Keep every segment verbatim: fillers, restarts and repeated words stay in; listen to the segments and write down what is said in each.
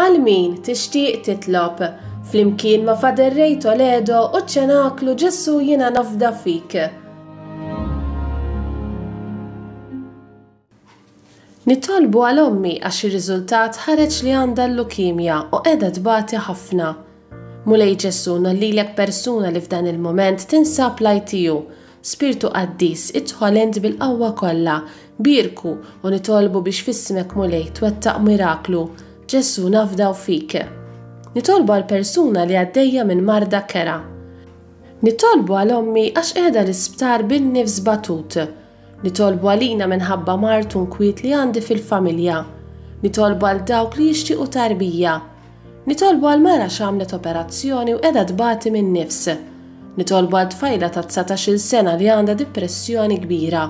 Għal min tixtieq titlob, flimkien ma' Father Ray Toledo u ċ-Ċenaklu Ġesù Jiena Nafda Fik. Nitolbu għal ommi għax ir-riżultat ħareġ li għandha l-lukimja u qiegħda tbati ħafna. Mulej Ġesù, nollilek persuna li f'dan il-mument tinsab l-I T U. Spirtu Qaddis, idħol int bil-qawwa kollha, bierku u nitolbu biex f'ismek Mulej twettaq miraklu. Ġesù nafdaw fik. Nitolbu għal persuna li għaddejja minn marda kera. Nitolbu għal ommi għax qiegħda l-isptar bin-nifs batut. Nitolbu għalina minħabba mard u nkwiet li għandi fil-familja. Nitolbu għal dawk li jixtiequ tarbija. Nitolbu għal mara x'għamlet operazzjoni u qiegħda tbati minn nifs. Nitolbu għal tfajla ta' dsatax-il sena li għandha depressjoni kbira.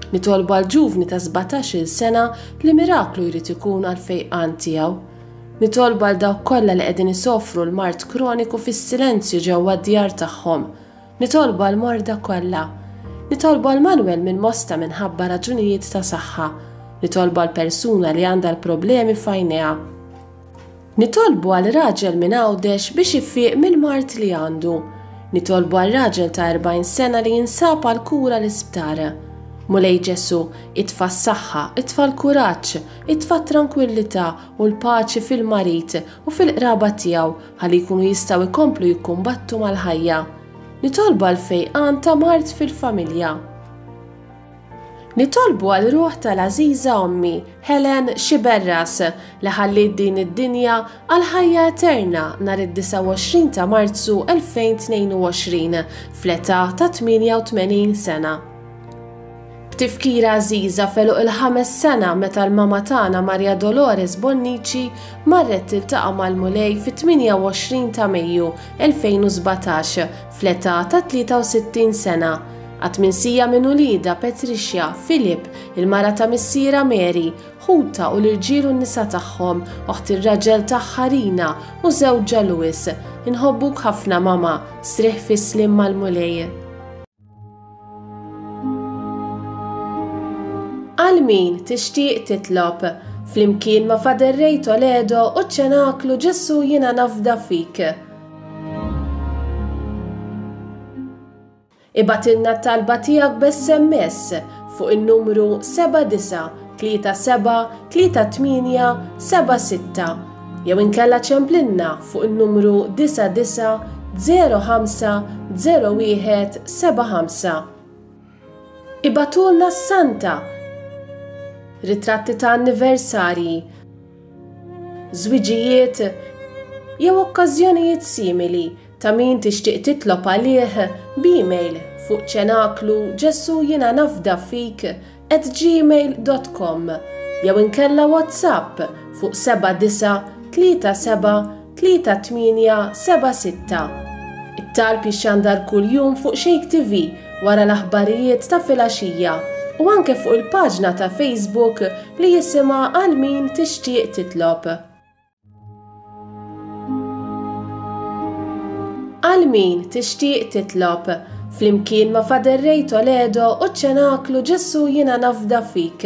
Nitolbu għal ġuvni ta' sbatax-il sena li miraklu jrid ikun għal fejqan tiegħu. Nitolbu għal dawk kollha li qegħdin isofru l-mard kroniku fis-silenzju ġewwa d-djar tagħhom. Nitolbu għal morda kollha. Nitolbu għal Manuel minn Mosta minħabba raġunijiet ta' saħħa. Nitolbu għal persuna li għandha l-problemi f'għajnejha. Nitolbu għal raġel minn Għawdex biex ifiq mill-mard li għandu. Nitolbu għal raġel ta' erbgħin sena li jinsab għal kura l-isptar. Mulej Ġesù, itfa' s-saħħa, itfa' l-kuraġġ, itfa' t-tranquillità u l-paċi fil-marid u fil-qraba tiegħu ħalli jkunu jistgħu jkomplu jikkumbattu mal-ħajja. Nitolbu għal fejqan ta' mard fil-familja. Nitolbu għal ruħ tal-għażiża ommi, Helen Xiberras, li ħalliet din id-dinja għal ħajja eterna nhar id-disgħa u għoxrin ta' Marzu elfejn tnejn u għoxrin fl-età ta' tmienja u tmenin sena. B'tifkira għażiża f'għeluq il-ħames sena meta l-mama tagħna Maria Dolores Bonnici marret tiltaqa' mal-Mulej fit-tmienja u għoxrin ta' Mejju elfejn u sbatax fl-età ta' tlieta u sittin sena. Għad minsija minn uliedha Patricia, Filip, il-mara ta' missiera Mary, ħuta u l-irġiel u n-nisa tagħhom, oħt ir-raġel tagħha Rina u żewġha Louis. Inħobbuk ħafna mama, strieħ fis-slim mal-Mulej. Għal min tixtieq titlob, flimkien ma' Father Ray Toledo u ċ-Ċenaklu Ġesù Jiena Nafda Fik. Ibgħatilna t-talba tiegħek b'S M S fuq in-numru seba' disa' tlieta seba' tlieta tmienja seba' sitta jew inkella ċemplinna fuq in-numru disa' disa' zero ħamsa zero wieħed seba' ħamsa. Ibgħatulna s-Santa, ritratti ta' anniversarji, żwiġijiet jew okkażjonijiet simili ta' min tixtieq titlob għalih b'email fuq ċenaklu Ġesù Jiena Nafda Fik at gmail dot com jew inkella WhatsApp fuq seba' disa' tlieta seba' tlieta tmienja seba' sitta. It-talb jixxandar kuljum fuq Shake T V wara l-aħbarijiet ta' filgħaxija u anke fuq il-paġna ta' Facebook li jisimha Għal Min Tixtieq Titlob. Għal min tixtieq titlob, flimkien ma' Father Ray Toledo u ċ-Ċenaklu Ġesù Jiena Nafda Fik.